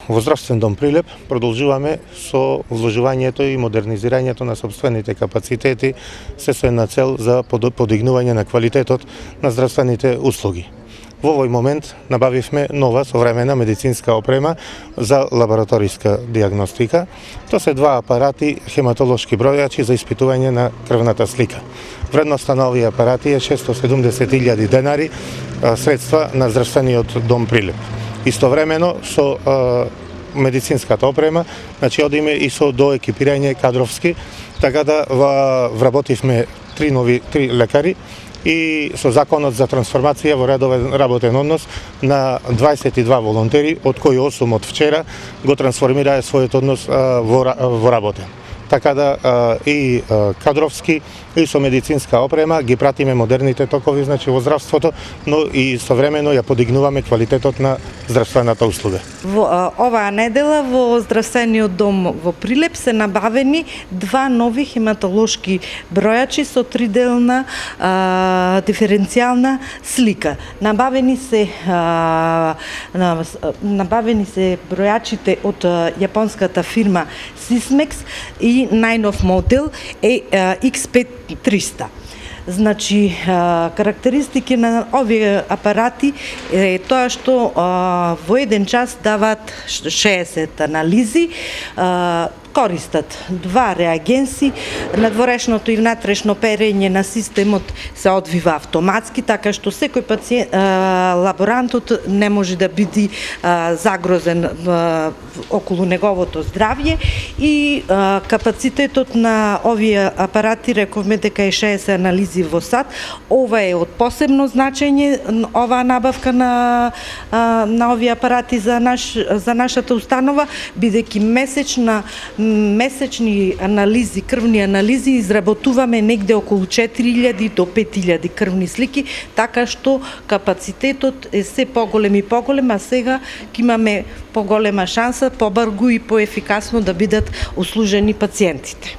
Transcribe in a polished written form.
Во Здравствен дом Прилеп продолжуваме со вложувањето и модернизирањето на сопствените капацитети се со една цел за подигнување на квалитетот на здравствените услуги. Во овој момент набавивме нова современа медицинска опрема за лабораториска диагностика. Тоа се два апарати хематолошки бројачи за испитување на крвната слика. Вредноста на овие апарати е 670.000 денари, средства на Здравствениот дом Прилеп. Истовремено со медицинската опрема, значи одиме и со доекипирање кадровски, така да вработивме три лекари и со законот за трансформација во редовен работен однос на 22 волонтери, од кои 8 од вчера го трансформираа својот однос во работен. Така да и кадровски и со медицинска опрема ги пратиме модерните токови, значи во здравството, но и современо ја подигнуваме квалитетот на здравствената услуга. Во оваа недела во Здравствениот дом во Прилеп се набавени два нови хематолошки бројачи со триделна диференцијална слика. Набавени се бројачите од јапонската фирма Sysmex и најнов модел е X5300. Значи, карактеристики на овие апарати е тоа што во еден час даваат 60 анализи, користат два реагенси, надворешното и внатрешно перење на системот се одвива автоматски, така што секој пациент, лаборантот не може да биде загрозен околу неговото здравје и капацитетот на овие апарати рековме дека е 60 анализи во сат. Ова е од посебно значење, оваа набавка на овие апарати за нашата установа, бидејќи месечни анализи, крвни анализи изработуваме негде околу 4000 до 5000 крвни слики, така што капацитетот е се поголем и поголем, а сега ќе имаме поголема шанса, побрзо и поефикасно да бидат услужени пациентите.